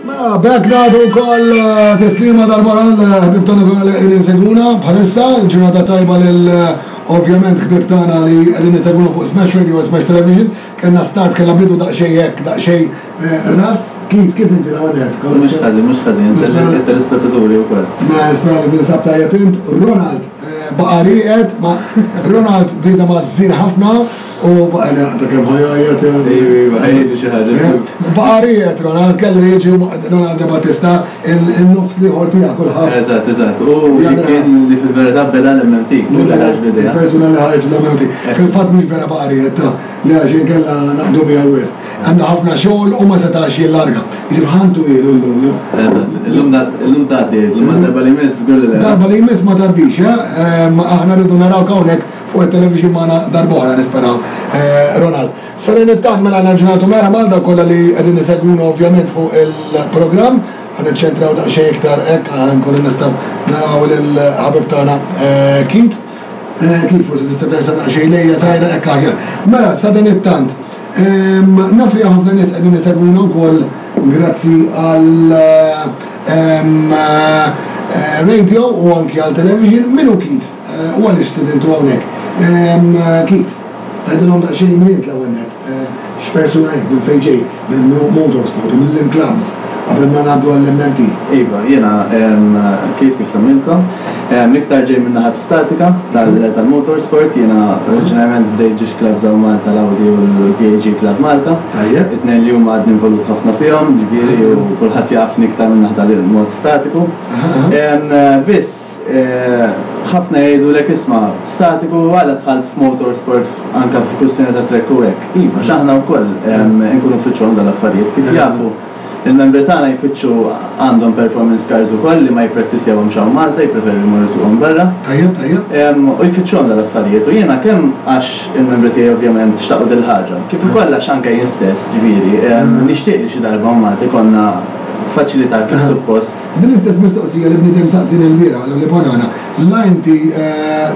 Mela, b'hekk nagħtu wkoll tislima darb'oħra lill-ħbieb tagħna kollha li qegħdin isegwuna bħalissa. Il-ġurnata tajba lil ovvjament ħbieb tagħna li qegħdin isegwuna fuq Smash Radio u Smash Television. Kellna start, kellna bidu daqsxejn hekk, daqsxejn rough. Keith, kif inti l-ewwel nett? Mhux ħażin, mhux ħażin. Insellem lit-telespettaturi wkoll. Mela, nispera li tinsab tajjeb int. Ronald baqa' rieqed, ma Ronald bniedem għażżien ħafna. U baqa' jaqta' kemm ħa jgħajjat. Ejwa, ejwa, ħa jgħidli xi ħaġa żgur. Baqa' rieqed Ronald, kellu jiġi Ronald De Battista, in-nofs l-ieħor tiegħek kulħadd. Eżatt, eżatt. U li kien li fil-verità beda l-MMT, hu li ħareġ bl-idea. Il-persuna li ħareġ l-MMT. Fil-fatt mhux vera baqa' rieqed ta' li għax inkella naqbdu miegħu wisq. Għandu ħafna xogħol u ma setax jillarga. Jiġifieri ħantu ilu llum. Eżatt. Illum illum tgħaddi, illum darba li jmiss żgur li le. Darba li jmiss ma tgħaddix, eh? Aħna rridu narawk hawnhekk Fuq it-television magħna darb'oħra nisperaw. Ronald. Sadanittant mela nerġa' nagħtu merħba għal dawk kollha li qegħdin isegwuna ovvjament fuq il-programm. Ħa niċċentraw daqsxejn iktar hekk ħa nkunu nistgħu naraw lill-ħabib tagħna Keith. Keith forsi tista' tersaq daqsxejn lejja żgħira hekk aħjar. Mela sadanittant naf li hawn ħafna nies qegħdin isegwuna wkoll grazzi għal radio u anki għal television. Min hu Keith? U għaliex stedintu hawnhekk? Keith, tgħidilhom daqsxejn min int l-ewwel nett, x'persuna int, minn fejn ġej, minn motorsport u minn liem clubs qabel ma ngħaddu għall-MMT. Iva, jiena Keith kif semmilkom. Iktar ġej min-naħa statika tal-motorsport, jiena oriġinarjament bdejt ġiex clubs hawn Malta, l-Audi u l-VAG Club Malta. Tajjeb. It-tnejn li huma għadni involut ħafna fihom, ġifieri u kulħadd jafni iktar min-naħa tal-mod statiku. Biss, Ħafna jgħidulek isma' statiku għala dħalt f'motorsport anke f'kwistjoni ta' track u hekk. Iva, għax aħna wkoll inkunu nfittxuhom dawn l-affarijiet. Kif jafu, il-membri tagħna jfittxu għandhom performance cars ukoll li ma jipprattisjawhomx hawn Malta, jippreferu jmorru jsuquhom barra. Tajjeb, tajjeb. U jfittxuhom dawn l-affarijiet. U jiena kemm għax il-membri tiegħi ovvjament xtaqu dil-ħaġa, kif ukoll għax anke jien stess, ġifieri, nixtieq li xi darba hawn Malta jkollna faċilità kif suppost. Din l-istess mistoqsija li bniedem saqsieni l-bieraħ l-Oli Banana, la inti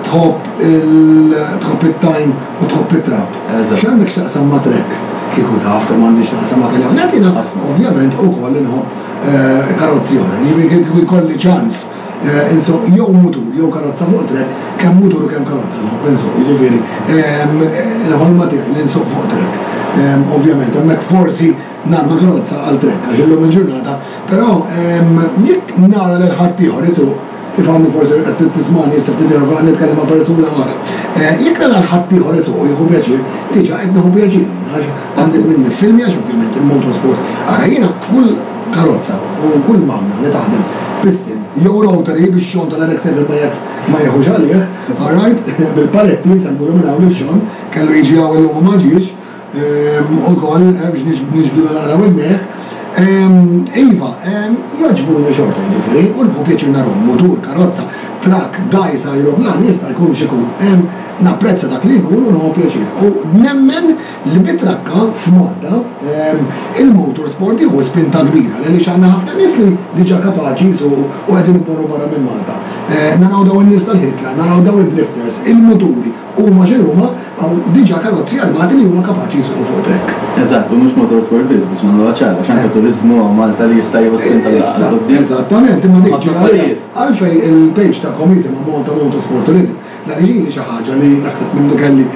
tħobb il tħobb it-tajn u tħobb it-trab. X'għandek x'taqsam ma' trek? Kieku taf kemm għandi x'naqsam ma' trek. Għalhekk jiena ovvjament ukoll inħobb karozzi oħra. Jiġifieri kieku jkolli ċans insuq jew mutur jew karozza fuq trek, kemm mutur u kemm karozza nħobb insuq. Jiġifieri il-ħolma tiegħi li nsuq fuq trek. Ovvjament hemmhekk forsi narma karozza għal trek għax illum il-ġurnata Però jekk nara lil ħaddieħor isuq, kif għandu forsi qed tismagħni issa ftit ieħor qed nitkellem ma' persuna oħra, jekk nara lil ħaddieħor isuq u jieħu pjaċir, diġà qed nieħu pjaċir jien għax għandi min niffilmja għax ovvjament il-motorsport. Ara jiena kull karozza u kull magna li taħdem piston jew rotary biex Sean tal-RX-7 ma jekx ma jieħux għalih, all right, bil-paletti nsellmulu minn hawn lil Sean, kellu jiġi hawn illum u ma ġiex. Ukoll, biex niġbdu naqra widnejh. Iva, jogħġbuni xorta jiġifieri, u nieħu pjaċir narahom, mutur, karozza, trakk, dgħajsa, ajruplan, jista' jkun x'ikun. Napprezza dak li jkun u nieħu pjaċir. U nemmen li bit-trakka f'Malta il-motorsport jieħu spinta kbira, għaliex għandna ħafna nies li diġà kapaċi jsuqu u qegħdin imorru barra minn Malta. Naraw dawn in-nies tal-ħitla, naraw dawn id-drifters, il-muturi. Huma x'inhuma, hawn diġà karozzi armati li huma kapaċi jsuqu fuq track. Eżatt, u mhux motorsport biss biex nagħmluha ċara, għax anke turiżmu hawn Malta li jista' jieħu spinta 'l quddiem. Eżattament, imma dik ġieli għalija. Għalfejn il-page tagħkom jisimha Malta Motorsport Tourism? L-għaliex ili xi ħaġa li naħseb mindu kelli,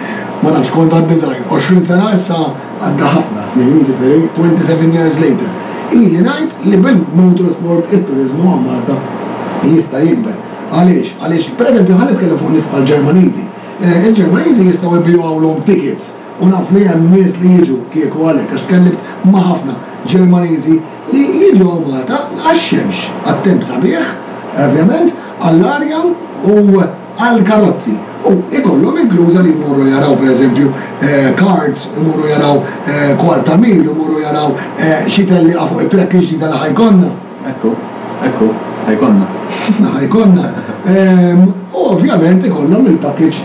ma nafx, kont għadni żgħir, 20 sena issa għadda ħafna snin, jiġifieri 27 years later. Ili ngħid li bil-motorsport it-turiżmu hawn Malta jista' jikber. Għaliex? Għaliex, pereżempju, ħa nitkellem fuq nies bħall-Ġermaniżi. Il-Ġermaniżi jistgħu jbigħulhom tickets u naf li hemm nies li jiġu kieku għalhekk għax tkellimt ma' ħafna Ġermaniżi li jiġu hawn Malta għax-xemx, għat-temp sabiħ, ovvjament, għall-arja u għall-karozzi. U ikollhom inkluża li jmorru jaraw pereżempju karts, imorru jaraw kwarta mil, imorru jaraw xi tellieqa fuq it-track il-ġdida li ħa jkollna. Ekku, ekku, ħa jkollna. Ħa jkollna. U ovvjament ikollhom il-package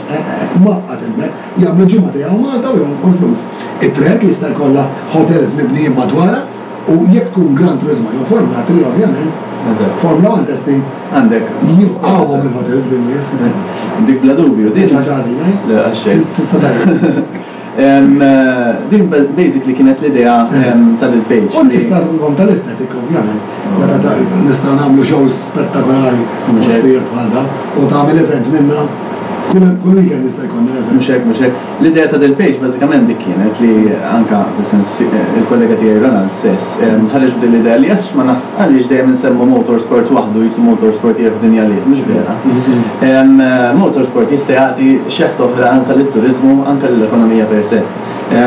mgħaqqad hemmhekk. Jagħmlu ġimgħa tiegħu Malta u jonfqu l-flus. It-trek jista' jkollha hotels mibnijin madwarha u jekk tkun Gran Turismo jew Formula 3 ovvjament, Formula 1 testing, Għandek. Jifqgħuhom il-hotels bin-nies. Dik bla dubju. Din xi ħaġa ħażina, eh? Le, għal xejn. Tista' tgħid. Din basically kienet l-idea ta' dil-page. U n-nies nagħtuhom tal-aesthetic ovvjament. Meta nistgħu nagħmlu shows spettakolari postijiet bħal da u tagħmel event minna kull weekend jista' jkollna event. Mhux hekk, mhux hekk. L-idea ta' dil-page bażikament dik kienet li anke fis-sens il-kollega tiegħi Ronald stess ħareġ b'din l-idea li għax ma nas għaliex dejjem insemmu motorsport waħdu qisu motorsport hija f'dinja għalih, mhux vera. Motorsport jista' jagħti xeħta oħra anke lit-turiżmu, anke lill-ekonomija per se.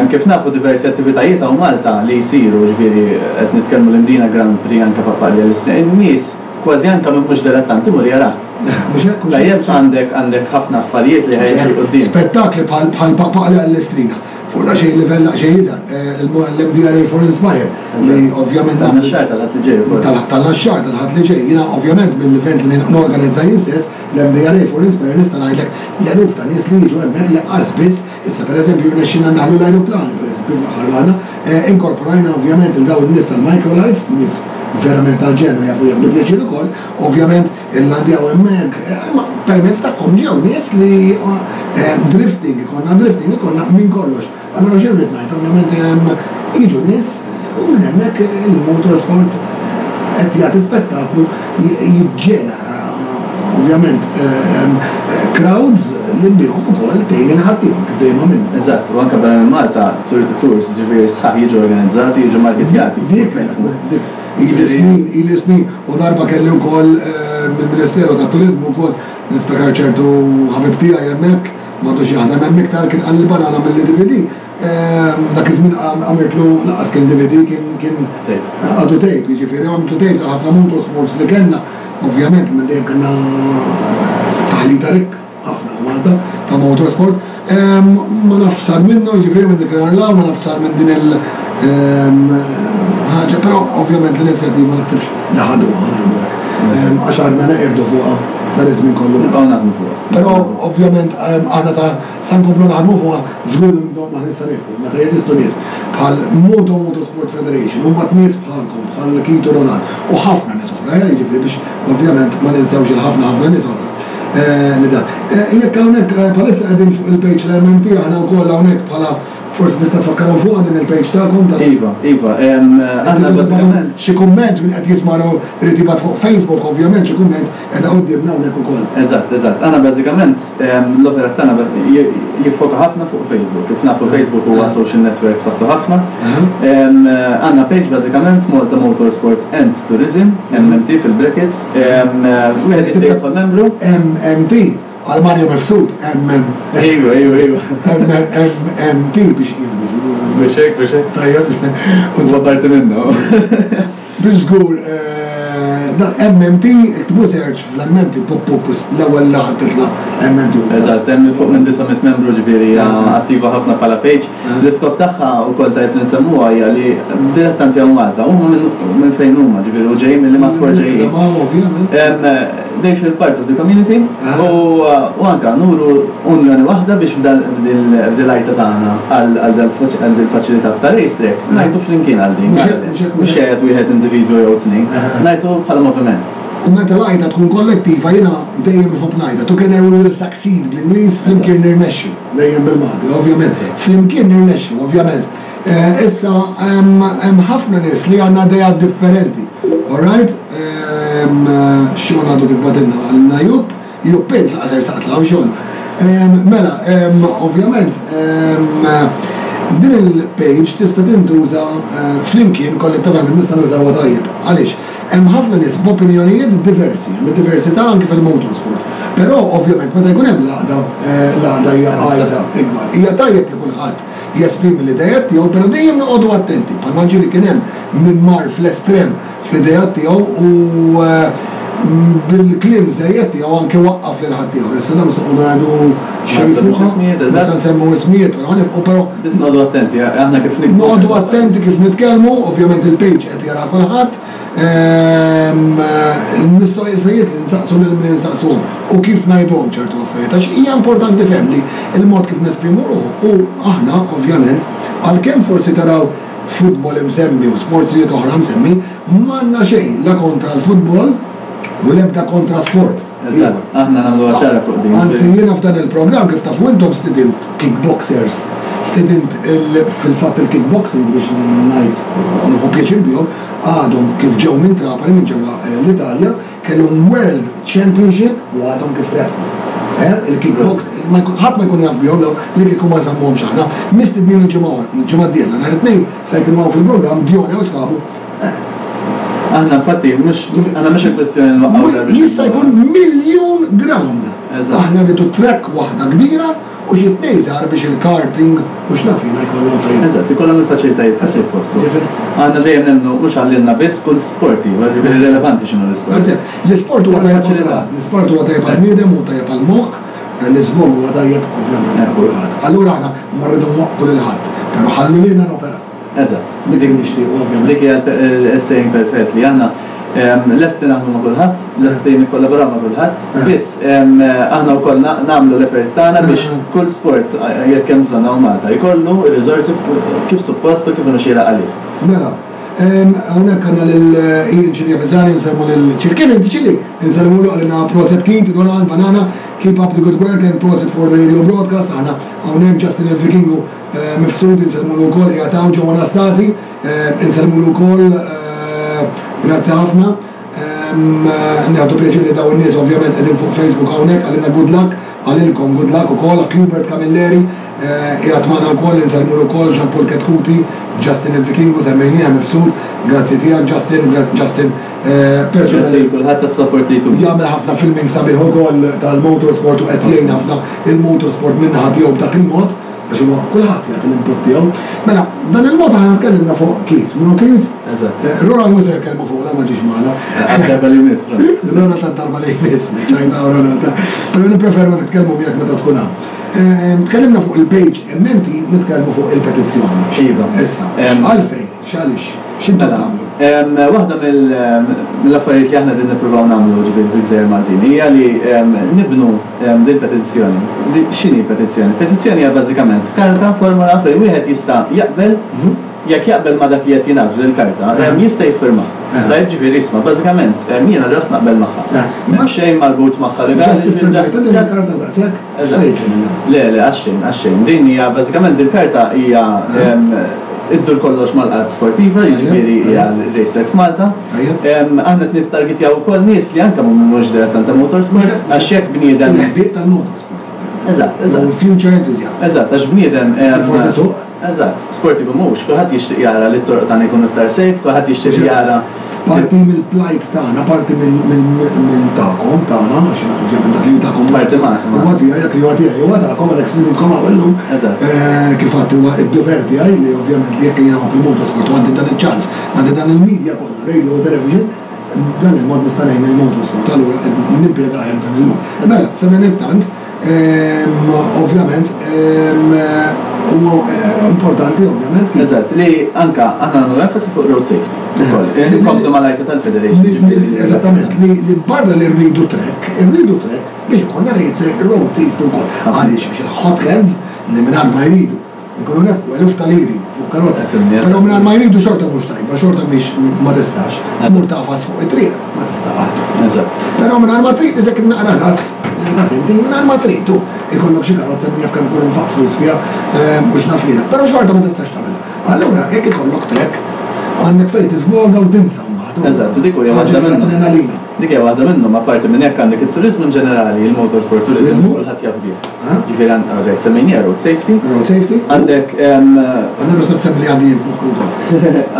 Kif nafu diversi attivitajiet hawn Malta li jsiru, jiġifieri qed nitkellmu l-Imdina Grand Prix anke Pappalja l-Istrina, in-nies kważi anke min mhux dilettant imur jarah. Mhux hekk, mhux hekk. Tajjeb għandek għandek ħafna affarijiet li ħa jiġu 'l quddiem. Spettakli bħal bħal Pappalja l-Istrina. Fuq daqsxejn livell daqsxejn iżgħar, l-MDRA for Inspire li ovvjament nagħmlu. Tal-Naxxar tal-Ħadd li ġej ukoll. Tal-Naxxar tal-Ħadd li ġej. Jiena ovvjament mill-event li norganizza jien stess, l-MDRA for Inspire nista' ngħidlek l-eluf ta' nies li jiġu hemmhekk li qas biss, issa pereżempju rnexxielna ndaħħlu l-ajruplani pereżempju fl-aħħar waħda, inkorporajna ovvjament lil dawn in-nies tal-microlights, nies verament tal-ġenn u jafu jieħdu pjaċir ukoll, ovvjament Illandjaw hemmhekk, imma permezz tagħhom ġew nies li drifting, ikollna drifting, ikollna minn kollox. Allura xi rrid ngħid, ovvjament jiġu nies u minn hemmhekk il-motorsport qed jagħti spettaklu jiġġenera ovvjament crowds li bihom ukoll tgħin lil ħaddieħor kif dejjem għamilna. Eżatt, u anke barra minn Malta tours ġifieri sħaħ jiġu organizzati, jiġu marketjati. Dik, dik. Ili snin, ili snin, u darba kelli wkoll mill-Ministeru tat-Turiżmu wkoll, niftakar ċertu ħabib tiegħi hemmhekk, m'għadux jaħdem hemm iktar, kien qalli l-banana mill-DVD. Dak iż-żmien għamiltlu lanqas kien DVD, kien kien għadu tape, jiġifieri għamiltlu tape ta' ħafna motorsports li kellna, ovvjament minn dejjem kellna taħlita rikka. Ħafna Malta ta' motorsport. Ma nafx sar minnu, jiġifieri minn dik l-nhar 'l hawn, ma nafx sar minn din il ħaġa, però ovvjament l-inizjattiva ma naħsibx li ħaduha, ħa ngħidu hekk. Għax għadna neqirdu fuqha dan iż-żmien kollu. Nibqgħu naħdmu fuqha. Però ovvjament aħna sa sa nkomplu naħdmu fuqha, żgur li minnhom aħna sa nieqfu. Meta jeżistu nies bħal Moto Motorsport Federation u mbagħad nies bħalkom, bħal Keith u Ronald u ħafna nies oħra, jiġifieri biex ovvjament ma ninsewx il-ħafna ħafna nies oħra. Li dan. Jekk hawnhekk bħalissa qegħdin fuq il-page tal-MMT aħna wkoll hawnhekk bħala forsi tista' tfakkarhom fuqha din il-page tagħkom ta' Iva, iva, aħna bażikament. Xi kumment min qed jisma' irid jibgħat fuq Facebook ovvjament xi kumment qiegħda quddiemna hawnhekk ukoll. Eżatt, eżatt. Aħna bażikament l-operat tagħna jiffoka ħafna fuq Facebook. Kif nafu Facebook huwa social network b'saħħtu ħafna. Għandna page bażikament Malta Motorsport and Tourism, MMT fil-brackets. Wieħed jista' jidħol membru. MMT, għal Mario Mifsud, MM. Ejwa, ejwa, ejwa. MMT biex Biex hekk, biex hekk. Tajjeb. Huwa parti minnu. Biex żgur, dan MMT, iktbu search fl-MMT, pop pop, l-ewwel li ħadd titla' MMT. Eżatt, hemm fuq minn 900 membru ġifieri hija attiva ħafna bħala page. L-iskop tagħha wkoll tajjeb li nsemmuha hija li dilettanti hawn Malta huma minn fejn huma, ġifieri u ġejjin minn liema sport ġejjin. They feel part of the community u anke nuru unjoni waħda biex f'dil-għajta tagħna għal dil-faċilità ta' racetrack ngħajtu flimkien għal din. Mhux jgħajjat wieħed individwu jew tnejn, ngħajtu bħala moviment. U meta l-għajta tkun kollettiva jiena dejjem inħobb ngħidha, together we will succeed bl-Ingliż, flimkien nirnexxu. Dejjem bil-Malti, ovvjament. Flimkien nirnexxu, ovvjament. Issa, hemm ħafna nies li għandna ideat differenti. All right? Sean għadu kif bagħtilna, qalilna Jupp, Jupp int laqas ersaqt 'l hawn Sean. Mela, ovvjament, din il-page tista' tintuża flimkien kollettivament nistgħu nużawha tajjeb. Għaliex? Hemm ħafna nies b'opinjonijiet diversi, hemm id-diversità anki fil-motorsport. Però ovvjament meta jkun hemm l-għaqda, l-għaqda hija għajta ikbar. Hija tajjeb li kulħadd jesprimi l-ideat tiegħu, però dejjem noqogħdu attenti, bħalma ġieli kien hemm min mar fl-estrem fl-ideat tiegħu u bil-kliem żejjed tiegħu anke waqqaf lil ħaddieħor. Issa dan mhux se noqogħdu ngħidu xejn fuqha, mhux se nsemmu ismijiet, però ħa nifqu però. Biss noqogħdu attenti, aħna kif niktbu. Noqogħdu attenti kif nitkellmu, ovvjament il-page qed jaraha kulħadd. Il-mistoqsijiet li nsaqsu lil min insaqsuhom u kif ngħiduhom ċertu affarijiet għax hija importanti ferm li l-mod kif nesprimu ruħu u aħna ovvjament għalkemm forsi taraw futbol imsemmi u sportsijiet oħra msemmi, m'għandna xejn la kontra l-futbol u l-ebda kontra sport. Eżatt, aħna nagħmluha ċara fuq din. Anzi jiena f'dan il-programm kif tafu intom stidint kickboxers. Stedint fil-fatt il-kickboxing biex ngħid u nieħu pjaċir bihom, għadhom kif ġew minn Trapani minn ġewwa l-Italja, kellhom World Championship u għadhom kif rebħu. Il-kickbox, ħadd ma jkun jaf bihom dawn li kieku ma nsemmuhomx aħna. Mistednin il-ġimgħa il-ġimgħa d-dieħla nhar it-Tnejn se jkunu hawn fil-programm Dione u sħabu. Aħna infatti mhux aħna mhux il-kwestjoni nwaqqgħu. Jista' jkun miljun ground. Aħna rridu track waħda kbira u xi tnejn żgħar biex il-karting u x'naf jiena jkollhom fejn. Eżatt, ikollhom il-faċilitajiet kif suppost. Aħna dejjem nemmnu mhux għalilna biss kull sport ieħor, jiġifieri irrelevanti x'inhu l-isport. Eżatt, l-isport huwa tajjeb għal kulħadd, l-isport huwa tajjeb għall-bniedem u tajjeb għall-moħħ, l-iżvog huwa tajjeb ovvjament għal kulħadd. Allura aħna ma rridu nwaqqfu lil ħadd, però ħallu lilna noperaw. Eżatt. Dik li nixtiequ ovvjament. Dik hija s-saying perfett li aħna lesti naħdmu ma' kulħadd, lesti nikkollaboraw ma' kulħadd, biss aħna wkoll nagħmlu l-efforts tagħna biex kull sport jekk hemm bżonn hawn Malta jkollu r-riżorsi kif suppost u kif inhu xieraq għalih. Mela, hawnhekk għandna lil Ian Cilia Pisani nsellmu lil Ċili. Kif inti Ċili? Insellmulu qalilna proset Keith, Roland, Banana, keep up the good work and proset for the radio broadcast. Aħna hawnhekk Justin il-Vikingu Mifsud insellmulu wkoll qiegħed hawn Joe Anastasi insellmulu wkoll grazzi ħafna. Nieħdu pjaċir li dawn in-nies ovvjament qegħdin fuq Facebook hawnhekk qalilna good luck, qalilkom good luck ukoll Hubert Camilleri qiegħed magħna wkoll insellmulu wkoll Jean Paul Ketkuti, Justin il-Vikingu semmejnieh Mifsud, grazzi tiegħek Justin, Justin persuna Grazzi lil kulħadd tas-support li jtuna. Jagħmel ħafna filming sabiħ ukoll tal-motorsport u qed jgħin ħafna il-motorsport min-naħa tiegħu b'dak il-mod. Għax huwa kulħadd jagħti l-input tiegħu. Mela, dan il-mod aħna tkellimna fuq Keith. Minnu Keith? Eżatt. Eh, Ronald mhux se nitkellmu fuq, ma ġiex magħna. Għad-darba li jmiss, Ronald. Ronald għad-darba li jmiss, ċajta Ronald. Però nippreferu nitkellmu miegħek meta tkun hawn. Eh, tkellimna fuq il-page MMT, nitkellmu fuq il-petizzjoni. Iva. Issa, għalfejn, x'għaliex, x'intom Mela, tagħmlu? Waħda mill-affarijiet li aħna qegħdin nippruvaw nagħmlu ġifieri fil-Gżejjer Maltin hija li nibnu din petizzjoni. X'inhi petizzjoni? Petizzjoni hija bażikament karta, formola fejn wieħed jista' jaqbel, jekk jaqbel ma' dak li qed jingħad f'din il-karta, jista' jiffirma. Tajjeb, ġifieri isma' bażikament jiena ġast naqbel magħha. M'hemm xejn marbut magħha legali. Ġast iffirmajtha din il-karta u daqshekk? X'se jiġri minnha? Le, le, għax xejn, għax xejn. Din hija bażikament dil-karta hija iddur kollox mal-qalb sportiva, jiġifieri hija l-race track f'Malta. Aħna qed nittargetjaw ukoll nies li anke mhumiex dilettanti ta' motorsport, għax jekk bniedem. Il-ħbieb tal-motorsport. Eżatt, eżatt. Future enthusiasts. Eżatt, għax bniedem. Forsi suq. Eżatt, sportiv u mhux, kulħadd jixtieq jara li t-toroq tagħna jkunu iktar safe, kulħadd jixtieq jara. Parti mill-plight tagħna, parti minn tagħkom, tagħna, għax jiena ovvjament dak li hu tagħkom Parti magħna. Huwa tiegħi, dak li huwa tiegħi huwa tagħkom għalhekk stidintkom hawn illum. Eżatt. Kif għedt huwa d-dover tiegħi li ovvjament li jekk jiena nħobb il-motorsport u għandi dan iċ-ċans, għandi dan il-media kollha, radio u television, b'dan il-mod nista' ngħin il-motorsport, allura qed nimpjega aħjar b'dan il-mod. Mela, sadanittant, Ovvjament, huwa importanti ovvjament. Eżatt, li anka aħna nagħmlu enfasi fuq road safety. Nkomplu mal-għajta tal-Federation. Eżattament, li barra li rridu track, irridu track biex ikollna road safety wkoll. Għaliex għax il-hot heads li mingħajr ma jridu Ikunu nefqu eluf ta' liri fuq karozza. Però mingħajr ma jridu xorta mhux tajba, xorta mhix ma tistax. Tmur tagħfas fuq it-triq, ma tista' qatt. Eżatt. Però mingħajr ma trid iżek naqra gas, taf inti, mingħajr ma trid u ikollok xi karozza min jaf kemm ikun infaqt flus fiha u x'naf jiena. Però xorta ma tistax tagħmilha. Allura jekk ikollok track, għandek fejn tiżvoga u tinsa mbagħad. Eżatt, u dik hija waħda minnhom. Dik hija waħda minnhom, apparti minn hekk għandek it-turiżmu in ġenerali, il-motorsport tourism, kulħadd jaf bih. Ġifieri għandek semmejniha road safety. Road safety. Għandek. Għandek nista' semmi li għandi jien f'moħħi wkoll.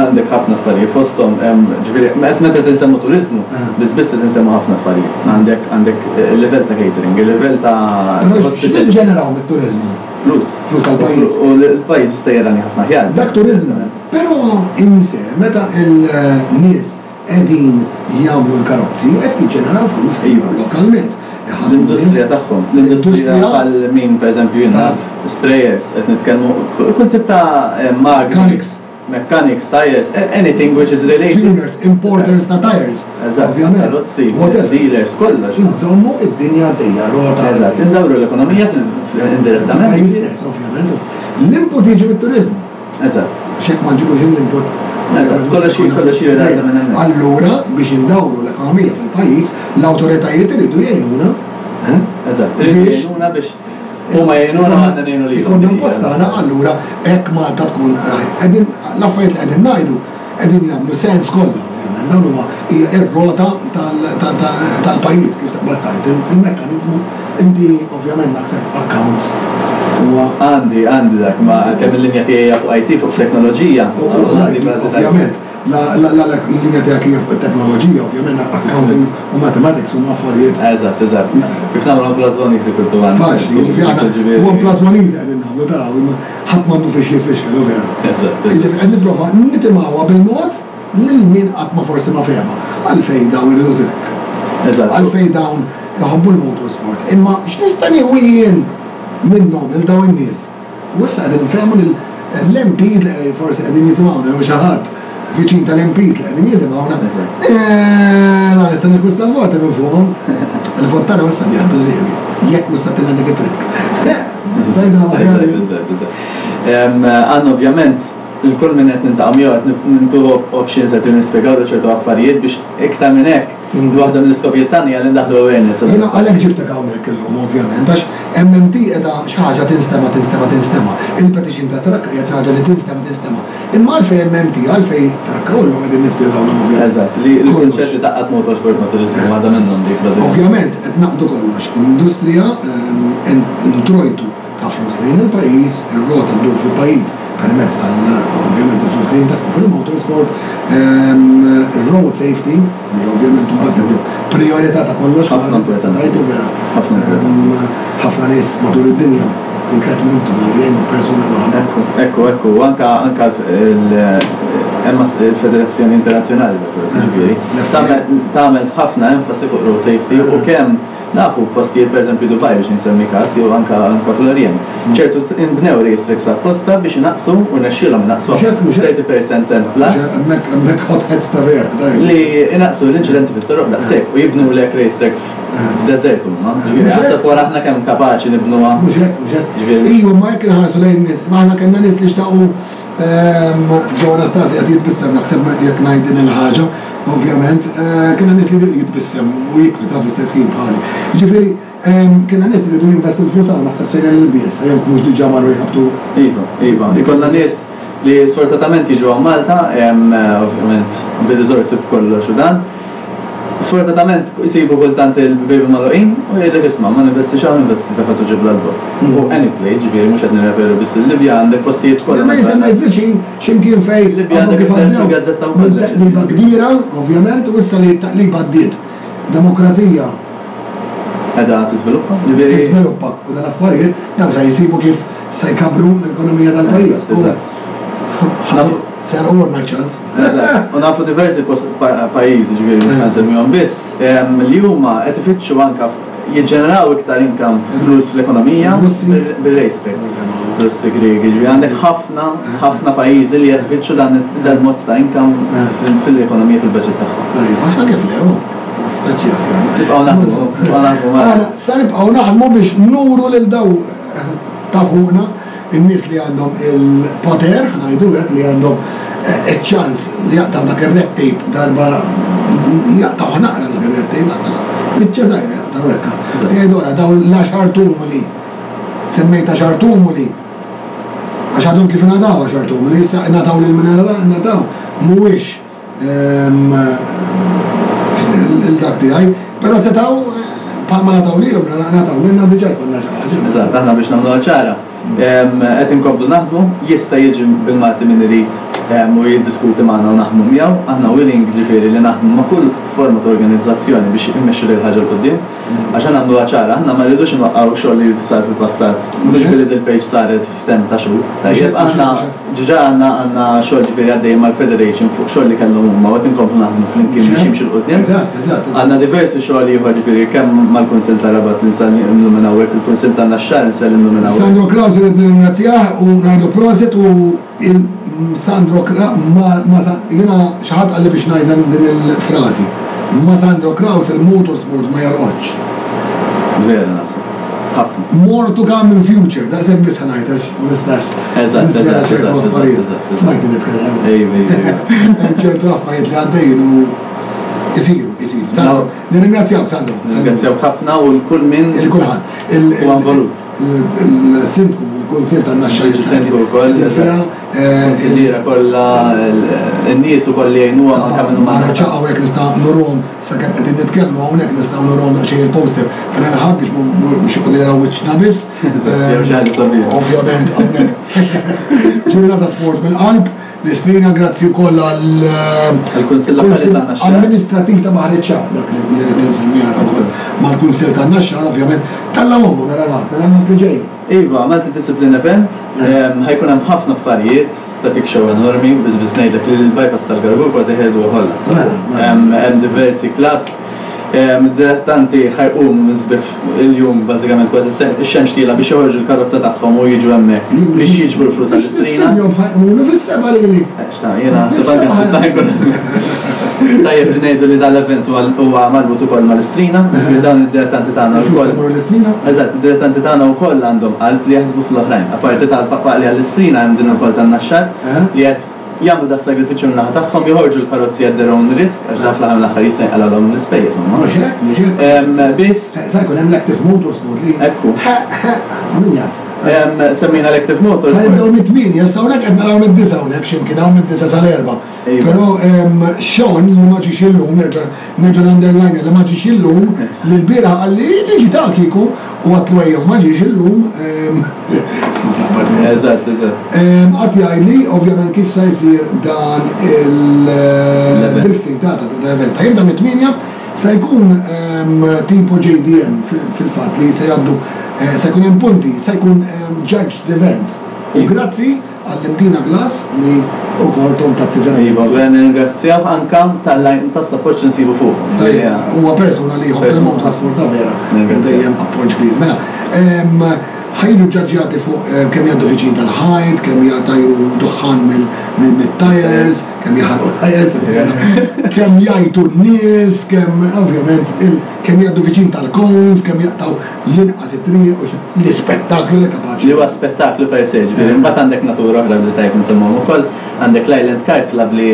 Għandek ħafna affarijiet fosthom, ġifieri meta qed insemmu turiżmu, biss biss qed insemmu ħafna affarijiet. Għandek għandek il-livell ta' catering, il-livell ta' hospitality. X'niġġeneraw mit-turiżmu? Flus. Flus għall-pajjiż. U l-pajjiż jista' jarani ħafna aħjar. Dak turiżmu. Però inse meta l-nies qegħdin jagħmlu l-karozzi qed jiġġeneraw flus lokalment. L-industrija tagħhom, l-industrija bħal min pereżempju jien naf sprayers, qed nitkellmu kull tip ta' magni. Mechanics. Mechanics, tires, anything which is related. Tuners, importers ta' tires. Eżatt, karozzi, dealers, kollox. Inżommu id-dinja għaddejja, rota. Eżatt, indawru l-ekonomija indirettament. Fil-pajjiż stess, ovvjament. L-input jiġi mit-turiżmu. Eżatt. Għax jekk ma nġibux l-input, Eżatt, kollox kollox jirrelata minn hemmhekk. Allura biex indawru l-ekonomija fil-pajjiż, l-awtoritajiet iridu jgħinuna. Eżatt, iridu jgħinuna biex. Huma jgħinuna u aħna ngħinu lilhom. Ikollna l-post tagħna allura hekk Malta tkun qegħdin l-affarijiet li qegħdin ngħidu qegħdin jagħmlu sens kollha ovvjament. Dawn huma hija r-rota tal-pajjiż kif taqbad tgħid, il-mekkaniżmu inti ovvjament naħseb accounts huwa. Għandi, għandi dak, ma għalkemm il-linja tiegħi hija fuq IT, fuq teknoloġija, għandi bażi ta' Ovvjament. La l-linja tiegħek hija fuq it-teknoloġija, ovvjament accounting u mathematics huma affarijiet. Eżatt, eżatt. Kif nagħmlu one plus one is equal to one. Faċli, jiġifieri aħna one plus one easy qegħdin nagħmlu ta' imma ħadd m'għandu fiex jitfixkel, hu vera. Eżatt. Jiġifieri qed nipprova nitimgħuha bil-mod lil min qatt ma forsi ma fehemha. Għalfejn dawn iridu track. Eżatt. Għalfejn dawn iħobbu l-motorsport. Imma x'nista' nieħu jien minnhom lil dawn in-nies? U issa qegħdin nfehmu lil l-MPs li forsi qegħdin jisimgħuna jew xi ħadd viċin tal-MPs li qegħdin jisimgħuna. Eh, nista' nikkwista l-voti minn fuqhom. Il-vot tagħna issa jgħaddu żiedi. Jekk mhux se tingħadek it-triq. Sajdna aħjar. Għandna ovvjament il-kull min qed nintaqgħu miegħu qed nintuhu options qed nispjegaw ċertu affarijiet biex iktar minn hekk Waħda mill-iskopijiet tagħna hija li ndaħħlu awareness. Jiena għalhekk ġibtek hawnhekk illum ovvjament għax MMT qiegħda xi ħaġa tinstema' tinstema' tinstema'. Il-petition ta' trakka hija xi ħaġa li tinstema' tinstema'. Imma għalfejn MMT, għalfejn trakka u llum qegħdin nispjegawlhom ovvjament. Eżatt, li l-kunċett li tgħaqqad motorsport ma' turiżmu waħda minnhom dik bażikament. Ovvjament qed ngħaqqdu kollox, industrija, introjtu ta' flus lejn il-pajjiż, ir-rota ddur fil-pajjiż permezz tal, ovvjament il-flus li jintefqu fil-motorsport, ir-road safety, li ovvjament imbagħad ikun prijorità ta' kollox, Ħafna tista' importanti. tgħid u vera. Ħafna importanti. Ħafna nies matul id-dinja kull tlett minuti ma jgħinu persuna waħda. Ekku, ekku, ekku, u anka anka l hemm il-Federazzjoni Internazzjonali ta' Karozzi ġifieri, tagħmel tagħmel ħafna enfasi fuq road safety u kemm Nafu postijiet pereżempju Dubai biex insemmi każ jew anke anke fl-Orjent. Ċertu inbnew race tracks apposta biex inaqqsu u rnexxielhom inaqqsu 30 percent and plus. Hemmhekk hemmhekk hot heads ta' vera tajjeb. Li inaqqsu l-inċidenti fit-toroq daqshekk u jibnulek race track f'deżert huma. Ġifieri aħseb wara aħna kemm kapaċi nibnuha. Mhux hekk, mhux hekk. Ġifieri. Iva, imma jekk inħarsu lejn nies, imma aħna kellna nies li xtaqu Joe Anastasi qed jitbissem naħseb jekk ngħid din il-ħaġa, ovvjament, kellna nies li jitbissem u jikri ta' bl-istess ħin bħali. Jiġifieri, kellna nies li riedu jinvestu l-flus hawn naħseb sejrin l-bies, jekk mhux diġà marru jħabbtu. Iva, iva. Ikollna nies li sfortunatament jiġu hawn Malta, ovvjament bir-riżorsi b'kollox u dan. Sfortunatament isibu kultant il-bibien magħluqin u jgħidlek isma' ma ninvestix hawn ninvesti ta' Fatu Ġibla 'l bogħod. U any place, ġifieri mhux qed nirreferu biss il-Libja, għandek postijiet kollha. Le ma semmejt viċin x'imkien fejn Libja għandek kif għaddew fil-gazzetta wkoll. Minn taqliba kbira, ovvjament, u issa li t-taqliba għaddiet. Demokrazija. Qiegħda tiżviluppa, ġifieri. Tiżviluppa u dal-affarijiet dawn se jsibu kif se jkabbru l-ekonomija tal-pajjiż. Eżatt. Serqulna ċ-ċans. Eżatt. U nafu diversi pajjiżi, ġifieri mhux ħa nsemmihom biss, li huma qed ifittxu anke jiġġeneraw iktar income, flus fl-ekonomija bir-race track. Russi, Griegi, ġifieri għandek ħafna, ħafna pajjiżi li qed ifittxu dan il-mod ta' income fil-ekonomija, fil-budget tagħhom. Tajjeb, aħna kif le, hu? Speċjali. Nibqgħu naħdmu, nibqgħu naħdmu. Aħna sa nibqgħu naħdmu biex nuru lil dawn ta' fuqna in-nies li għandhom il-poter, ħa ngħidu hekk, li għandhom iċ-ċans li jaqtgħu dak ir-red tape darba jaqtgħuha naqra dak ir-red tape, biċċa żgħira jaqtgħu hekk. Jgħidu ara dawn l-għaxar tumuli, semmejt għaxar tumuli, għax għadhom kif ingħataw għaxar tumuli, issa ingħataw lil min ingħataw, mhuwiex il-dak tiegħi, però setgħu bħalma ngħataw lilhom, ngħataw lilna diġà jkollna xi ħaġa. Eżatt, aħna biex nagħmluha ċara, qed inkomplu naħdmu, jista' jiġi bil-Malti min irid u jiddiskuti magħna u naħdmu miegħu, aħna willing ġifieri li naħdmu ma' kull forma ta' organizzazzjoni biex immexxu lil ħaġa 'l quddiem. Għax ħa nagħmluha ċara, aħna ma rridux inwaqqgħu xogħol li sar fil-passat, mhux billi dil-page saret f'temp ta' xhur. Tajjeb, aħna ġiġa għandna għandna xogħol ġifieri għaddejjin mal-Federation fuq xogħol li kellhom huma u qed inkomplu naħdmu flimkien biex jimxi 'l quddiem. Eżatt, eżatt, eżatt. Għandna diversi xogħol ieħor ġifieri kemm mal-Kunsill tar-Rabat li nsellimlu minn hawnhekk, il-Kunsill tan-Naxxar insellimlu minn hawnhekk. Sandro Craus irrid nirringrazzjah u ngħidlu prosit u il Sandro Cra ma ma jiena xi ħadd qalli biex ngħidha din il-frażi. Ma Sandro Craus il-motorsport ma jorqodx. Vera naħseb. Ħafna. More to come in future, daqshekk biss ħa ngħid għax ma nistax Eżatt, niżvela eżatt, ċertu eżatt, affarijiet. eżatt, eżatt. Smajtni nitkellem. Iva, iva, iva. Hemm ċertu affarijiet li għaddejjin u isiru, isiru. Sandro, nirringrazzjawk Sandro. Nirringrazzjawk ħafna u l-kull min Il kulħadd. huwa involut. Il-Sindku u l-Kunsill tan-Naxxar issa qegħdin fiha. Kunsilliera kollha, in-nies ukoll li jgħinuhom anke min huma. Barra ċaqgħu hekk nista' nuruhom sakemm qegħdin nitkellmu hawnhekk nistgħu nuruhom daqsxejn il-poster tal-Ħadd biex mhux joqogħdu jaraw wiċċna biss. Jew xi ħaġa sabiħa. Ovvjament hawnhekk ġurnata sport mill-qalb. L-Istrina grazzi wkoll għal Kunsill Amministrattiv ta' Baħar iċ-Ċagħaq, dak li rrid insemmi ara wkoll mal-Kunsill tan-Naxxar ovvjament talla' ommu nhar il-Ħadd, nhar il-Ħadd li ġej. Iva, Multi Discipline Event, ħa jkun hemm ħafna affarijiet, static show enormi, biss biss ngħidlek li l-bypass tal-Gargur kważi ħeduha kollha. Hemm diversi clubs, Id-dilettanti ħa jqumu minn sbieħ il-jum bażikament kważi x-xemx tielgħa biex joħorġu l-karozza tagħhom u jiġu hemmhekk biex jiġbru l-flus għall-istrina. Biex ħa jqumulu fis-sebgħa lili. X'ta, jiena naħseb anke s-sitta ħa jkun hemmhekk. Tajjeb li ngħidu li dan l-event huwa marbut ukoll mal-istrina, jiġifieri dawn id-dilettanti tagħna wkoll. Il-flus imorru l-istrina? Eżatt, id-dilettanti tagħna wkoll għandhom qalb li jaħsbu fl-oħrajn. Apparti tal-Paqpaqli għall-istrina hemm din ukoll tan-Naxxar li qed Jagħmlu das-sagrifiċċju min-naħa tagħhom, joħorġu l-karozzi at their own risk, għax dan fl-aħħar mill-aħħar jista' jinqalgħulhom l-ispejjeż huma. Mhux hekk, mhux hekk. Biss. Sa jkun hemm l-Active Motorsport li. Ekku. Ħeqq, ħeqq, min jaf. Semmejna l-Active Motorsport. Ħa nibdew mit-tmienja, issa hawnhekk qed naraw mid-disgħa hawnhekk xi mkien hawn mid-disgħa sal-erbgħa. Però Sean li ma ġiex illum, nerġa' nerġa' nunderline li ma ġiex illum, li lbieraħ qalli niġi ta' kieku u għadtlu ejjew ma ġiex illum. Eżatt, eżatt. Qagħad jgħidli ovvjament kif sa jsir dan il-drifting ta' ta' event. Ħa jibda mit-tmienja, se jkun tipo JDM fil-fatt li se jgħaddu se jkun hemm punti, se jkun judged event. U grazzi għall-Imdina Glass li wkoll thom tagħti verament. Iva, vera nirringrazzjawh anke tas-sapport li nsibu fuqu. Tajjeb, huwa persuna li jħobb il-motorsport ta' vera u dejjem appoġġ kbir. Mela, ħa jiġu ġġaġġjati fuq kemm jgħaddu viċin tal-ħajt, kemm jtajru duħħan mit-tyres, kemm jaħarqu tyres, kemm jgħajtu n-nies, kemm ovvjament kemm jgħaddu viċin tal-cones, kemm jaqtgħu l-inqas it-triq u l-ispettaklu li kapaċi. Li huwa spettaklu per se, ġifieri imbagħad għandek natura oħra li tajjeb insemmuhom ukoll, għandek l-Island Car Club li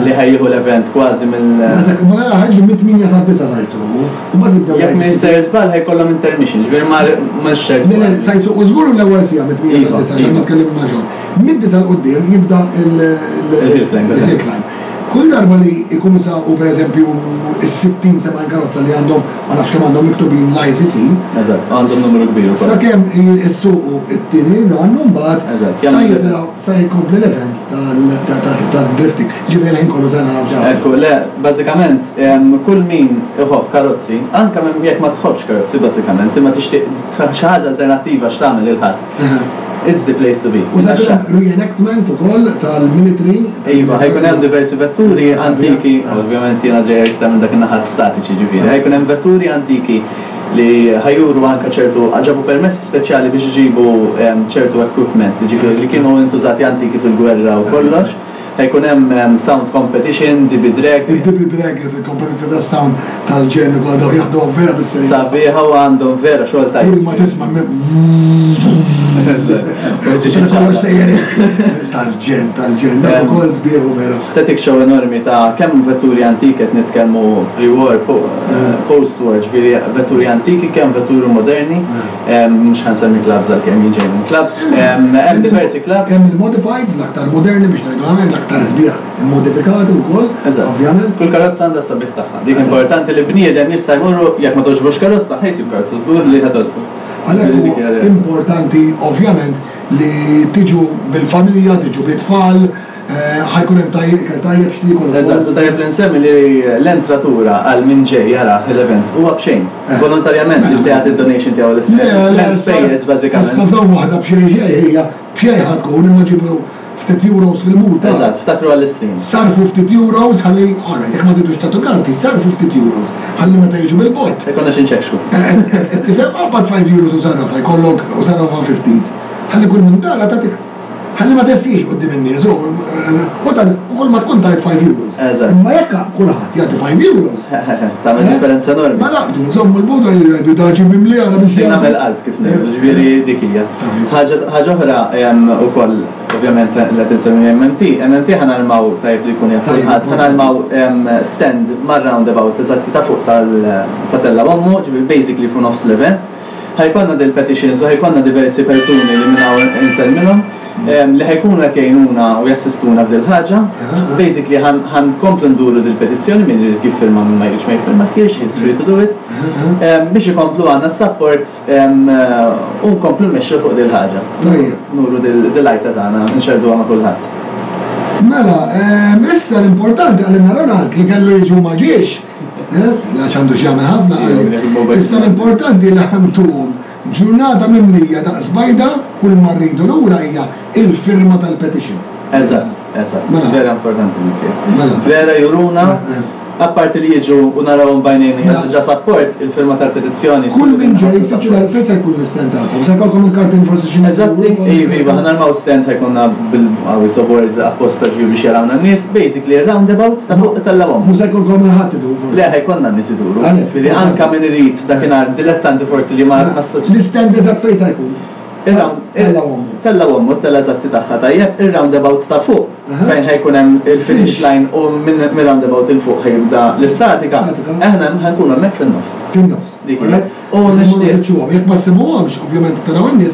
li ħa jieħu l-event kważi mill. Daqshekk, ma nara ħaġa li mit-tmienja sad-disgħa sa jsuqu, u mbagħad jibdew Jekk m'iniex sejjer żball ħa jkollhom intermission, ġifieri ma mhux ċert. Le, le, sa jsuqu żgur l-ewwel siegħa mit-tmienja sad-disgħa għax aħna tkellimna ma' John. Mid-disgħa 'l quddiem jibda il-hill climb. Kull darba li jkunu saqu pereżempju s-60, 70 karozza li għandhom ma nafx kemm għandhom miktubin l-ICC. Eżatt, u għandhom numru kbir ukoll. Sakemm issuqu t-tieni run u mbagħad sa jitilgħu sa jkompli l-event tad-drifting. Jiġifieri l-ħin kollu se naraw xi ħaġa. Ekku, le, bażikament kull min iħobb karozzi, anke jekk ma tħobbx karozzi bażikament, imma tixtieq xi ħaġa alternattiva x'tagħmel il-Ħadd. It's the place to be. U se jkun hemm reenactment ukoll tal-military. Iva, ħa jkun hemm diversi vetturi antiki, ovvjament jiena ġej iktar minn dak in-naħat statiċi ġifieri, ħa jkun hemm vetturi antiki li ħa juru anke ċertu, ġabu permessi speċjali biex iġibu ċertu equipment, jiġifieri li kienu intużati antiki fil-gwerra u kollox. Ħa jkun hemm sound competition, DB Drag. Id-DB Drag, il-kompetizzjoni tas-sound tal-ġenn ukoll dawn jaħduha vera bis-serjetà. Sabiħa u għandhom vera xogħol tajjeb. Kull ma tisma' Kollox sejjer tal-ġenn, tal-ġenn, dak ukoll sbieħ u vera. Static show enormi ta' kemm vetturi antiki qed nitkellmu pre-war, post-war, ġifieri vetturi antiki kemm vetturi moderni. Mhux ħa nsemmi clubs għalkemm jien ġej minn clubs. Hemm diversi clubs. Hemm il-modifieds, l-aktar moderni biex ngħidu hemm l-aktar sbieħ immodifikati wkoll, ovvjament. Kull karozza għandha s-sabiħ tagħha. Dik importanti li bniedem jista' jmur jekk ma togħġbux karozza, ħa jsib karozza żgur li ħa togħġbu. Għalhekk huwa importanti ovvjament li tiġu bil-familja, tiġu bit-tfal, Ħa jkun hemm tajjeb, ikel tajjeb x'tiekol ukoll. Eżatt, u tajjeb li nsemmi li l-entratura għal min ġej jarah l-event huwa b'xejn. Volontarjament jista' jagħti d-donation tiegħu l-istess. Le, le, M'hemm spejjeż bażikament. Issa żomm waħda b'xejn xejn hija b'xejn ħa tkun imma ġibu ftit euros fil-mut. Eżatt, ftakru għall-istream. Sarrfu ftit euros ħalli, alright, jekk ma tridux tagħtu karti, sarrfu ftit euros ħalli meta jiġu mill-bogħod. Ikollna xi nċekxku. Qed tifhem? Qabad 5 euros u sarrafha jkollok u sarrafha fifties. Ħalli kull min tara tagħtik. Ħalli ma testix quddiem in-nies u u tal u kull ma tkun tajt 5 euros. Eżatt. Imma jekk kulħadd jagħti 5 euros. Tagħmel differenza enormi. Mela naqbdu, nżommu l-buda jgħidu da ġie mimli ara biex. Strina mill-qalb kif ngħidu, ġifieri dik hija. Ħaġa oħra ukoll ovvjament li qed insemmi MMT, MMT ħa narmaw tajjeb li jkun jaf kulħadd, ħa narmaw stand mar-roundabout eżatti ta' fuq ta' Tella Bommu, ġifieri basically fuq nofs l-event. Ħa jkollna dil-petitions u ħa jkollna diversi persuni li minn hawn insellmilhom li ħa jkunu qed jgħinuna u jassistuna f'dil-ħaġa. Basically ħa nkomplu nduru dil-petizzjoni, min irid jiffirma min ma jridx ma jiffirmahiex, he's free to do it, biex ikomplu għandna s-support u nkomplu nmexxu fuq dil-ħaġa. Nuru dil-għajta tagħna, nxerrduha ma' kulħadd. Mela, issa l-importanti qalilna Ronald li kellu jiġi u ma ġiex. Għax għandu x'jagħmel ħafna qalli. Issa l-importanti li ħa ntuhom ġurnata mimlija daqs bajda, kull ma rridu lura hija il-firma tal-petition. Eżatt, eżatt. Vera importanti dik. Mela. Vera juruna Apparti li jiġu u narawhom b'għajnejna hija diġà support, il-firma tal-petizzjoni. Kull min ġej fittxu l fejn se jkun l-istand tagħkom? Se jkollkom il-kartin forsi xi Eżatti, iva, iva, ħa narmaw stand ħa jkollna bil-qawwi board apposta ġifieri biex jarawna n-nies, basically roundabout ta' fuq it-tellgħa Mhux se jkollkom il-Ħadd idur forsi? Le, ħa jkollna n-nies iduru. Ġifieri anke min irid dakinhar dilettanti forsi li ma assoċja. L-istand eżatt fejn se jkun? Tella' ommu. Tella' ommu, t-tella' eżatti tagħha, tajjeb, ir-roundabout ta' fuq, fejn ħa jkun hemm il-finish line u mir-roundabout 'il fuq ħa jibda l-istatika, aħna ħa nkunu hemmhekk fin-nofs. Fin-nofs. Dik hija. U nixtieq. Nfittxuhom. Jekk ma ssibuhomx, ovvjament taraw in-nies,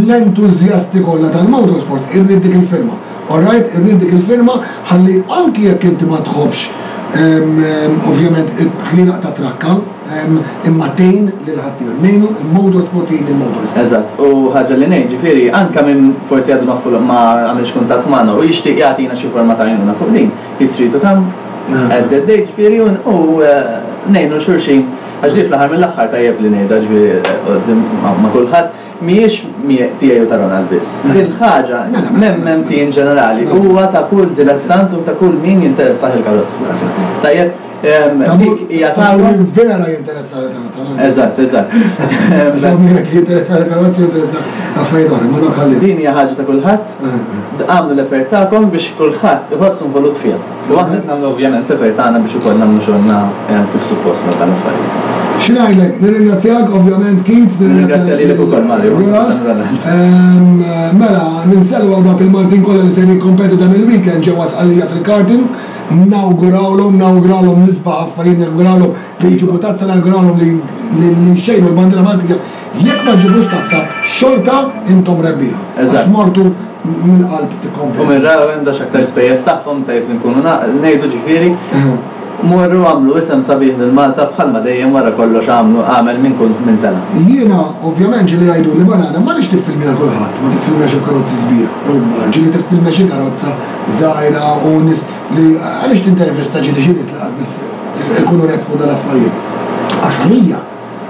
l-entużjasti kollha tal-motorsport irrid dik il-firma. Alright, irrid dik il-firma ħalli anki jekk inti ma tħobbx ovvjament it-tlielaq tat-trakka, Imma tgħin lil ħaddieħor. Ngħinu l-motorsport jgħin lill-motorsport. Eżatt, u ħaġa li ngħid, ġifieri, anke min forsi għadu ma ma għamilx kuntatt magħna u jixtieq jagħtina xi forma ta' għajnuna fuq din, he's free to come at that date, ġifieri, u ngħinu 'l xulxin, għax din fl-aħħar mill-aħħar tajjeb li ngħidha, ġifieri, quddiem ma' kulħadd, mhijiex tiegħi u ta' Ronald biss. Din il-ħaġa, m'MMT in ġenerali, huwa ta' kull dilettant u ta' kull min jinteressah il-karozzi. Tajjeb? Dik hija ta' min vera jinteressa l-karozza. Eżatt, eżatt. Għax min jekk jinteressa l-karozza jinteressa affarijiet oħra, ma dawk ħalli. Din hija ħaġa ta' kulħadd. Agħmlu l-effort tagħkom biex kulħadd iħossu involut fiha. U aħna qed nagħmlu ovvjament l-effort tagħna biex ukoll nagħmlu xogħolna kif suppost ma' dan l-affarijiet. Xi ngħidlek, nirringrazzjak ovvjament Keith, nirringrazzja lilek ukoll Mario. Mela, ninsellmu għal dawk il-Maltin kollha li se jikkompetu dan il-weekend ġewwa Sqallija fil-karting. Nawgurawlhom, nawgurawlhom l-isbaħ affarijiet, nawgurawlhom li jġibu tazza, nawgurawlhom li li jxejnu l-bandiera Maltija. Jekk ma ġġibux tazza, xorta intom rebbieħa. Għax mortu mill-qalb tikkompetu. U minn Rawend għax aktar spejjeż tagħhom, tajjeb li nkunu ngħidu ġifieri, morru għamlu isem sabiħ lil Malta bħalma dejjem wara kollox għamlu għamel min kull min tela'. Jiena ovvjament ġieli jgħiduli banana m'għaliex tiffilmja 'l kulħadd, ma tiffilmjax il-karozzi sbieħ u l-kbar, ġieli tiffilmja xi karozza żgħira u nies li għaliex tintervista ġieli xi nies li qas biss ikunu rebħu dal-affarijiet. Għax għalija,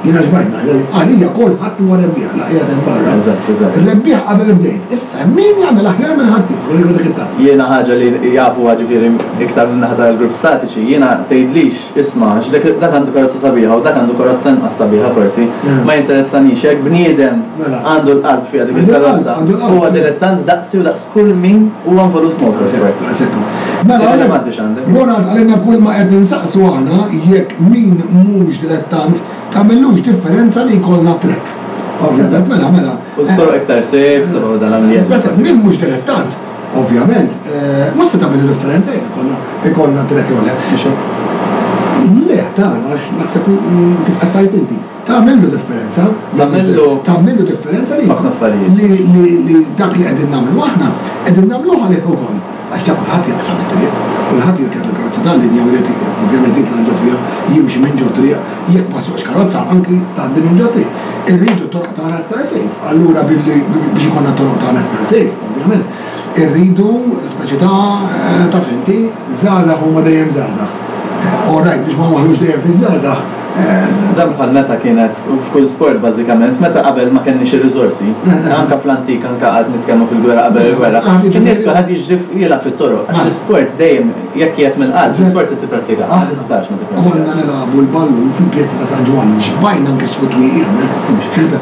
jiena xbajt ngħidha, għalija kulħadd huwa rebbieħ, la qiegħed hemm barra. Eżatt, eżatt. Rebbieħ qabel bdejt. Issa hemm min jagħmel aħjar minn ħaddieħor u jieħu dik it-tazza. Jiena ħaġa li jafuha ġifieri iktar min-naħa tal-grupp statiċi, jiena tgħidlix, Isma', għax dak dak għandu karozza sabiħa u dak għandu karozza inqas sabiħa forsi, ma jinteressanix. Jekk bniedem għandu l-qalb fiha dik il-karozza, huwa dilettant daqsi u daqs kull min huwa involut f'motorsport. Mela, Ronald qalilna kull ma qed insaqsu aħna jekk min mhux dilettant tagħmillux differenza li jkollna track. Ovvjament, mela, mela. U t-toroq iktar safe, u dan l-ambjent. Min mhux dilettant, Ovvjament, mhux se tagħmel differenza jekk ikollna ikollna track jew le. Le, ta' għax naħseb kif qed tgħid inti, tagħmillu differenza. Tagħmillu. Tagħmillu differenza li ħafna affarijiet. Li li li dak li qegħdin nagħmlu aħna, qegħdin nagħmluh għalih ukoll. Għax ta' kulħadd jaqsam it-triq, kulħadd jirkeb il-karozza tal-linja u jrid ovvjament jitla' ġo fiha, jimxi minn ġo triq, jekk ma ssuqx karozza anki tgħaddi minn ġo triq. Irridu t-toroq tagħna aktar safe, allura billi biex ikollna t-toroq tagħna aktar safe, ovvjament, irridu speċi ta' taf inti, żgħażagħ huma dejjem żgħażagħ. All right, biex ma nwaħħlux dejjem fiż-żgħażagħ. Dan bħal meta kienet f'kull sport bażikament, meta qabel ma kenniex ir-riżorsi, anke fl-antik, anke għad nitkellmu fil-gwerra qabel il-gwerra, in-nies kulħadd jiġri jilgħab fit-toroq, għax l-isport dejjem jekk qiegħed mill-qalb, l-isport trid tipprattikah, ma tistax ma tipprattikax. Konna nilagħbu l-ballun fil-pjazza ta' San Ġwann, xbajna nkissru twieqi hemmhekk,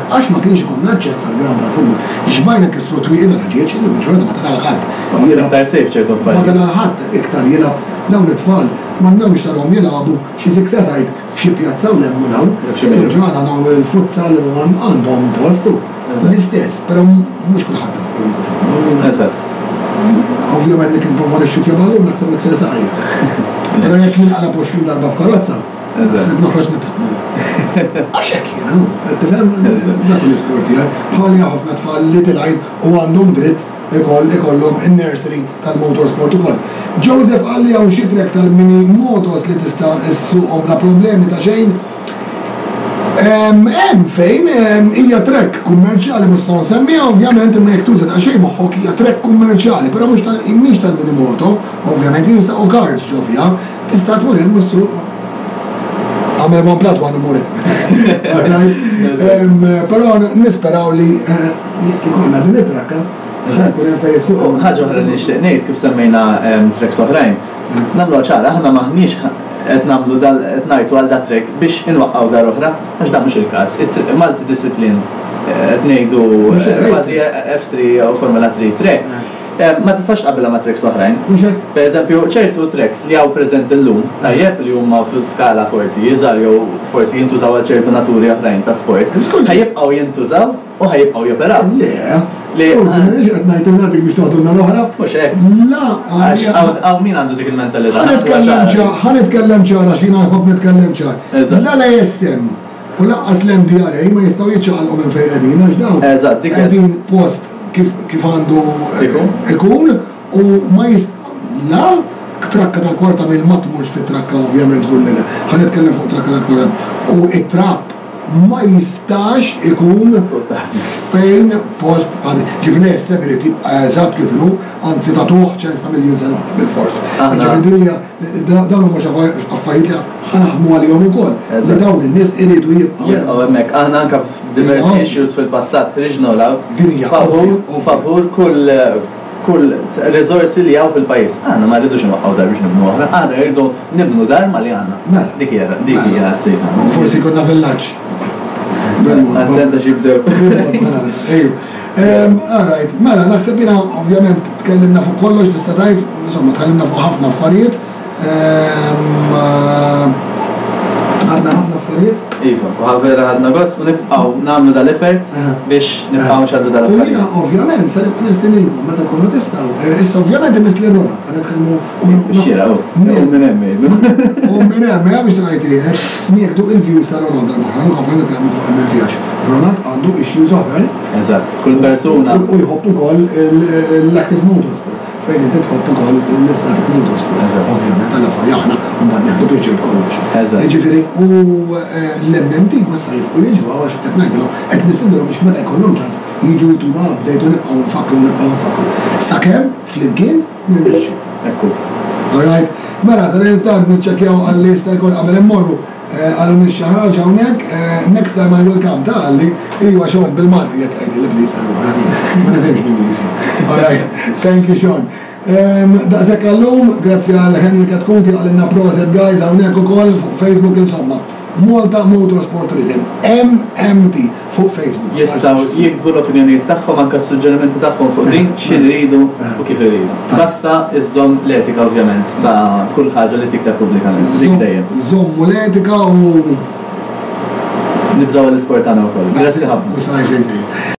għax ma kienx ikollna aċċess għall-ground tal-futbol. Xbajna nkissru twieqi tal-ħġieġ, illum il-ġurnata ma tara 'l ħadd jilgħab. Iktar safe ċertu affarijiet. Ma tara 'l ħadd iktar jilgħab, dawn it-tfal m'għandhomx tarahom jilagħbu xi six-a-side f'xi pjazza u 'l hemm u 'l hawn. Illum il-ġurnata għandhom il-futsal u għandhom post u l-istess, però mhux kulħadd għandu futbol. Eżatt. Ovvjament jekk nipprova nixxutja ballun naħseb nikser saqajja. Però jekk ninqaleb 20 darba f'karozza. Naħseb noħroġ nitħaq. Għax hekk jiena, tifhem dak l-isport tiegħi. Bħali ħafna tfal li tilgħin u għandhom dritt ikoll ikollhom in-nursery tal-motorsport ukoll. Joseph qal li hawn xi track tal-mini motos li tista' ssuqhom bla problemi ta' xejn. Hemm fejn hija track kummerċjali mhux se nsemmiha ovvjament imma jekk tuża daqsxejn moħħok hija track kummerċjali, però mhux tal mhix tal-mini moto, ovvjament jinstaqu karts ġo fiha, tista' tmur hemm u ssuq għamel 1 plus 1 u mur hemm. Però nisperaw li jekk ikollna din it-trakka, ħa jkun hemm fejn issuq. Ħaġa oħra li nixtieq ngħid kif semmejna tracks oħrajn, nagħmluha ċara aħna m'aħniex qed nagħmlu dal qed ngħajtu għal dat-track biex inwaqqgħu dar oħra, għax dan mhux il-każ. Multidiscipline qed ngħidu kważi F3 jew Formula 3 track, ma tistax tqabbilha ma' tracks oħrajn. Per eżempju, ċertu tracks li hawn preżenti llum, tajjeb, li huma fi skala forsi iżgħar jew forsi jintużaw għal ċertu naturi oħrajn ta' sport, ħa jibqgħu jintużaw u ħa jibqgħu joperaw. Le, skużi, m'iniex qed ngħid nagħtik biex toħdulna l-oħra. Mhux hekk. La, għax hawn min għandu dik il-mentalità. Ħa nitkellem ċar, ħa nitkellem ċar għax jiena nħobb nitkellem ċar. La l-ASM u lanqas l-MDRA ma jistgħu jiċċaqalqu minn fejn qegħdin għax dawn qegħdin post kif għandu ikun u ma jist la trakka tal-kwarta mil ma tmurx fit-trakka ovvjament żgur li le. Ħa nitkellem fuq trakka tal-kwarta u it-trap ma jistax ikun fejn post bħal din. Ġifieri l-ASM irid jibqa' eżatt kif inhu, anzi tagħtuh ċens ta' miljun sena oħra bilfors. Ġifieri din hija dawn huma xi affarijiet li ħa naħdmu għalihom ukoll. Li dawn in-nies iridu jibqgħu hemm. Jibqgħu hemmhekk. Aħna anke f'diversi issues fil-passat ħriġna all out favur kull kull riżorsi li hawn fil-pajjiż. Aħna ma rridux inwaqqgħu dar biex nibnu oħra, aħna rridu nibnu dar ma' li għandna. Mela. Dik hija dik hija s-sejt tagħna. Forsi jkollna villaġġ. Attenta x'jibdew. Mela, ejju. All right, mela naħseb jiena ovvjament tkellimna fuq kollox tista' tgħid, insomma tkellimna fuq ħafna affarijiet. Għadna ħafna affarijiet. Iva, u vera ħadna gost u nibqgħu nagħmlu dal-effort biex nibqgħu nxandru dal-affarijiet. U jiena ovvjament se nibqa' nistedinkom meta tkunu tistgħu. Issa ovvjament imiss lil Ronald, ħa nitkellmu. Xieraq hu. U minn hemm jgħidu. U minn hemm, eh biex tgħid eh, nieħdu il-views ta' Ronald darb'oħra, nkomplu nitkellmu fuq MMT għax Ronald għandu issues oħrajn. Eżatt, kull persuna. U jħobb ukoll l-active motorsport. Fejn inti tħobb ukoll l-istatic motorsport. Eżatt. Ovvjament alla volja aħna mbagħad nieħdu pjaċir b'kollox. Eżatt. Jiġifieri u l-MMT mhux sa jifqu jiġu hawn għax qed ngħidilhom qed nistedinhom biex meta jkollhom ċans jiġu jtuna update u nibqgħu nfakkru u nibqgħu nfakkru. Sakemm flimkien nirnexxu. Hekk hu. All right. Mela, sadanittant niċċekkjaw għal li jista' jkun qabel immorru. Qalulni xi ħaġa hawnhekk, next time I will come, ta qalli, iva Sean bil-Malti jekk għidili please ta' wara jien ma nifhimx bl-Ingliż jien. Alright, thank you Sean. Daqshekk għal-lum, grazzi għal Henry Chetcuti qalilna proset guys hawnhekk ukoll fuq Facebook insomma. Malta Motorsport Tourism, MMT, fuq Facebook. Jistgħu jiktbu l-opinjonijiet tagħhom anke s-suġġerimenti tagħhom fuq din xi jridu u kif iridu. Basta iżżomm l-etika ovvjament ta' kull ħaġa li tikteb pubblikament. Dik dejjem. Żommu l-etika u. Nibżgħu għall-isport tagħna wkoll. Grazzi ħafna. Mhux se ngħid xejn żejjed.